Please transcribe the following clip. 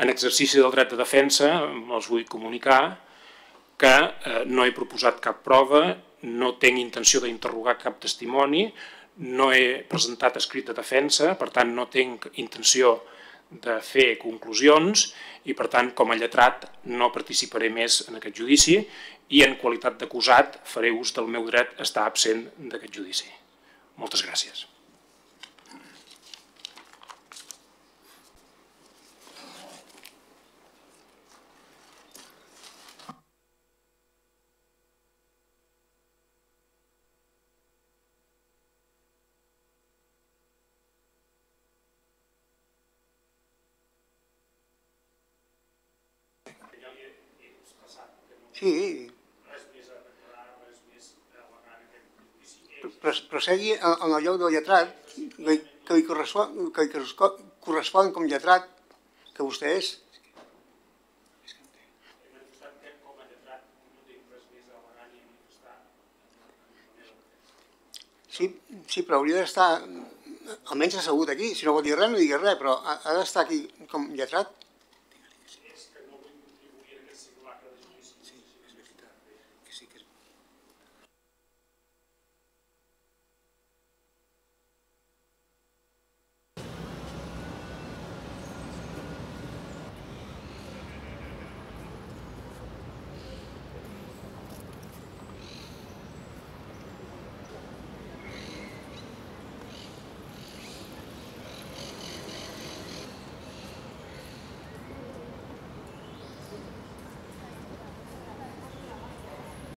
En exercici del dret de defensa els vull comunicar que no he proposat cap prova, no tinc intenció d'interrogar cap testimoni, no he presentat escrit de defensa, per tant no tinc intenció de fer conclusions i per tant com a lletrat no participaré més en aquest judici i en qualitat d'acusat faré ús del meu dret a estar absent d'aquest judici. Moltes gràcies. Sí. Prosegui en el lloc del lletrat, que li correspon com lletrat que vostè és. Sí, però hauria d'estar almenys assegut aquí. Si no vol dir res, no digui res, però ha d'estar aquí com lletrat.